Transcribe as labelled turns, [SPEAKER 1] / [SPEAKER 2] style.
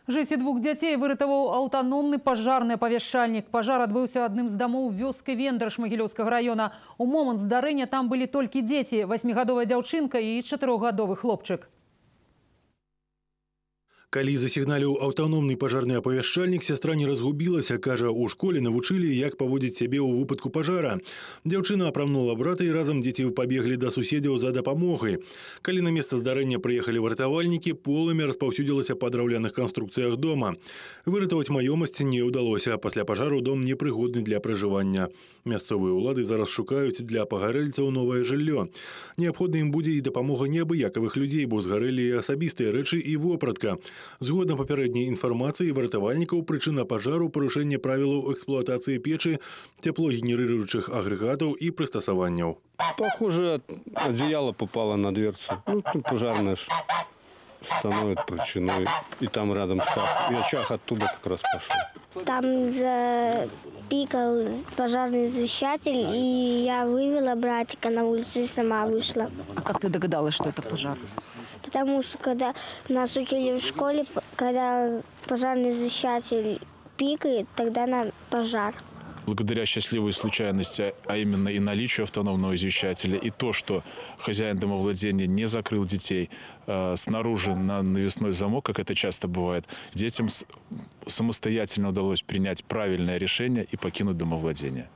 [SPEAKER 1] Жыцці двух дзяцей выратаваў аўтаномны пажарны апавяшчальнік. Пажар адбыўся адным з дамоў вёскі Вендраш Магілёўскага района. У момант здарэння там былі толькі дзеці, 8-гадовая дзяўчынка і 4-гадовы хлопчык.
[SPEAKER 2] Калі засігналіў аўтаномны пажарны апавяшчальнік, сястра не разгубілася, кажа, у школе навучылі, як паводзіць сябе ў выпадку пажара. Дзяўчына апрамнула брата і разам дзеці пабеглі да суседзяў за дапамогай. Калі на месца здарэння прыехалі вартавальнікі, полымя распаўсюдзілася па драўляных канструкцыях дома. Выратаваць маёмасць не ўдалося. Пасля пажару дом непрыгодны для пражывання. Мясцовыя ўлады зараз шукаюць для пагарэльцаў новае жыллё. Неабходна ім будзе і дапамога неабыякавых людзей, бо згарэлі асабістыя рэчы і вопратка. Згодна папярэдняй інфармацыі вартавальнікаў, прычына пажару – парушэнне правілаў эксплуатацыі печы, цеплогенерирующих агрэгатаў і прыстасаванняў.
[SPEAKER 3] Похоже, одеяло попало на дверцу. Пожарная становит причиной. И там рядом шкаф. И очаг оттуда как раз пошел.
[SPEAKER 4] Там запикал пожарный извещатель, и я вывела братика на улицу и сама вышла.
[SPEAKER 5] А как ты догадалась, что это пожар?
[SPEAKER 4] Потому что когда нас учили в школе, когда пожарный извещатель пикает, тогда на пожар.
[SPEAKER 6] Благодаря счастливой случайности, а именно и наличию автономного извещателя, и то, что хозяин домовладения не закрыл детей снаружи на навесной замок, как это часто бывает, детям самостоятельно удалось принять правильное решение и покинуть домовладение.